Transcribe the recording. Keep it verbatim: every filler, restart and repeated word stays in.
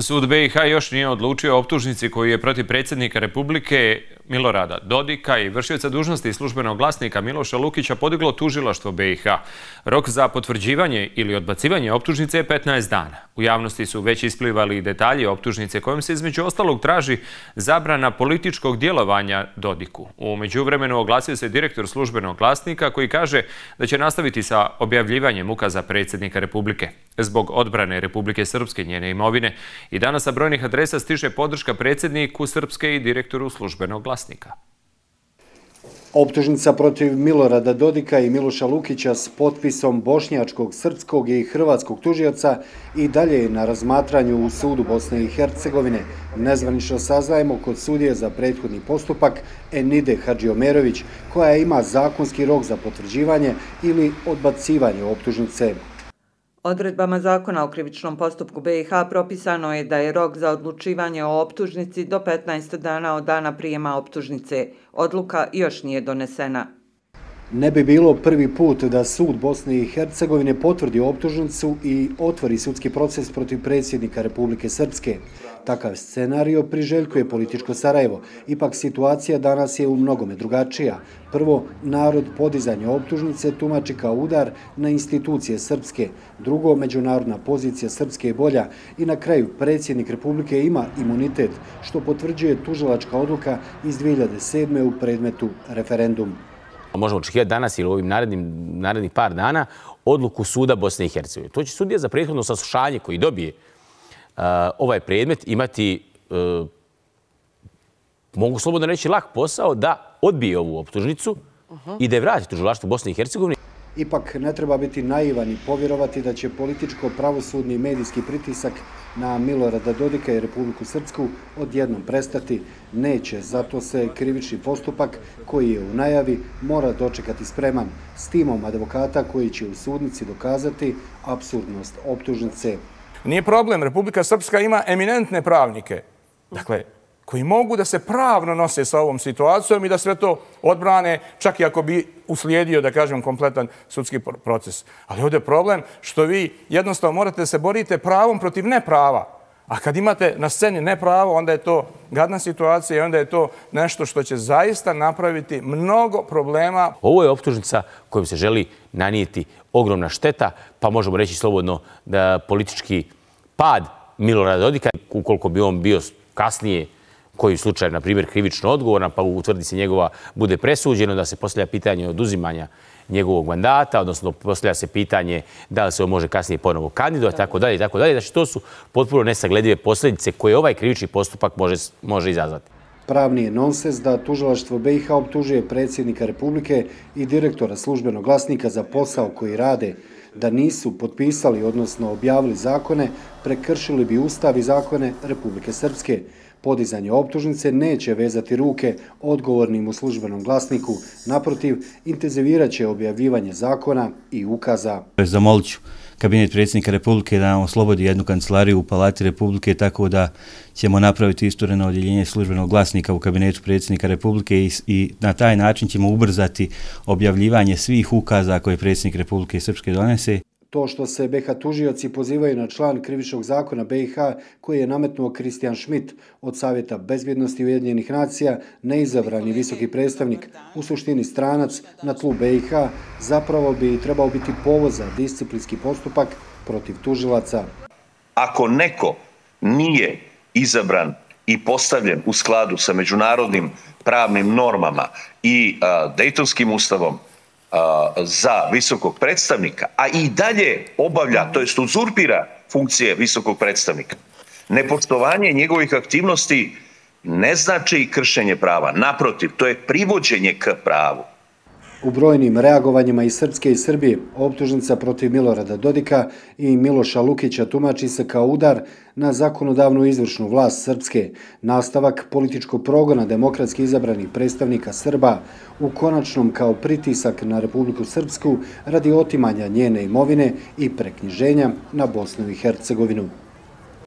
Sud be i ha još nije odlučio o optužnici koju je protiv predsjednika Republike Milorada Dodika i vršioca dužnosti službenog glasnika Miloša Lukića podiglo tužilaštvo be i ha. Rok za potvrđivanje ili odbacivanje optužnice je petnaest dana. U javnosti su već isplivali detalji optužnice kojom se između ostalog traži zabrana političkog djelovanja Dodiku. U međuvremenu oglasio se direktor službenog glasnika koji kaže da će nastaviti sa objavljivanjem ukaza predsjednika Republike. Zbog odbrane Republike Srpske njene imovine i danas sa brojnih adresa stiže podrška predsjedniku Srpske i direktoru službenog glasnika. Optužnica protiv Milorada Dodika i Miloša Lukića s potpisom bošnjačkog, srpskog i hrvatskog tužioca i dalje je na razmatranju u sudu Bosne i Hercegovine. Nezvanično saznajemo kod sudije za prethodni postupak Enide Hadžiomerović, koja ima zakonski rok za potvrđivanje ili odbacivanje optužnice. Odredbama zakona o krivičnom postupku be i ha propisano je da je rok za odlučivanje o optužnici do petnaest dana od dana prijema optužnice. Odluka još nije donesena. Ne bi bilo prvi put da sud Bosne i Hercegovine potvrdi optužnicu i otvori sudski proces protiv predsjednika Republike Srpske. Takav scenario priželjkuje političko Sarajevo. Ipak situacija danas je u mnogome drugačija. Prvo, narod podizanje optužnice tumači kao udar na institucije Srpske. Drugo, međunarodna pozicija Srpske je bolja. I na kraju, predsjednik Republike ima imunitet, što potvrđuje tužilačka odluka iz dvije hiljade sedme. u predmetu referendum. Možemo očekivati danas ili u ovim narednim, narednih par dana odluku suda Bosne i Hercegovine. To će sudija za prethodno saslušanje koji dobije uh, ovaj predmet imati, uh, mogu slobodno reći, lak posao da odbije ovu optužnicu uh-huh. i da je vrati tužilaštvu Bosne i Hercegovine. Ipak ne treba biti naivan i povjerovati da će političko-pravosudni i medijski pritisak na Milorada Dodika i Republiku Srpsku odjednom prestati. Neće, zato se krivični postupak koji je u najavi mora dočekati spreman s timom advokata koji će u sudnici dokazati apsurdnost optužnice. Nije problem, Republika Srpska ima eminentne pravnike. Dakle, koji mogu da se pravno nose sa ovom situacijom i da sve to odbrane, čak i ako bi uslijedio, da kažem, kompletan sudski proces. Ali ovdje je problem što vi jednostavno morate da se borite pravom protiv neprava. A kad imate na sceni nepravo, onda je to gadna situacija i onda je to nešto što će zaista napraviti mnogo problema. Ovo je optužnica kojom se želi nanijeti ogromna šteta, pa možemo reći slobodno da politički pad Milorada Dodika, ukoliko bi on bio kasnije koji slučaj, na primjer, krivično odgovoran, pa utvrdi se njegova, bude presuđeno, da se postavlja pitanje oduzimanja njegovog mandata, odnosno postavlja se pitanje da li se on može kasnije ponovo kandidovati, tako dalje, tako dalje. Znači, to su potpuno nesagledive posljedice koje ovaj krivični postupak može, može izazvati. Pravni je nonsens da tužilaštvo be i ha optužuje predsjednika Republike i direktora službenog glasnika za posao koji rade. Da nisu potpisali, odnosno objavili zakone, prekršili bi Ustav i zakone Republike Srpske. Podizanje optužnice neće vezati ruke odgovornim u službenom glasniku. Naprotiv, intenzivirat će objavljivanje zakona i ukaza. Zamolit ću kabinet predsjednika Republike da nam oslobodi jednu kancelariju u Palati Republike, tako da ćemo napraviti istureno odjeljenje službenog glasnika u kabinetu predsjednika Republike i, i na taj način ćemo ubrzati objavljivanje svih ukaza koje predsjednik Republike Srpske donese. To što se be i ha tužioci pozivaju na član krivičnog zakona be i ha koji je nametnuo Kristijan Schmidt od Savjeta bezbjednosti Ujedinjenih nacija, neizabrani visoki predstavnik, u suštini stranac na tlu be i ha, zapravo bi trebao biti povod za disciplinski postupak protiv tužilaca. Ako neko nije izabran i postavljen u skladu sa međunarodnim pravnim normama i a, Dejtonskim ustavom za visokog predstavnika, a i dalje obavlja, to jest uzurpira funkcije visokog predstavnika, nepoštovanje njegovih aktivnosti ne znači kršenje prava. Naprotiv, to je privođenje k pravu. U brojnim reagovanjima iz Srpske i Srbije optužnica protiv Milorada Dodika i Miloša Lukića tumači se kao udar na zakonodavnu izvršnu vlast Srpske, nastavak političkog progona demokratski izabranih predstavnika Srba, u konačnom kao pritisak na Republiku Srpsku radi otimanja njene imovine i preknjiženja na Bosnu i Hercegovinu.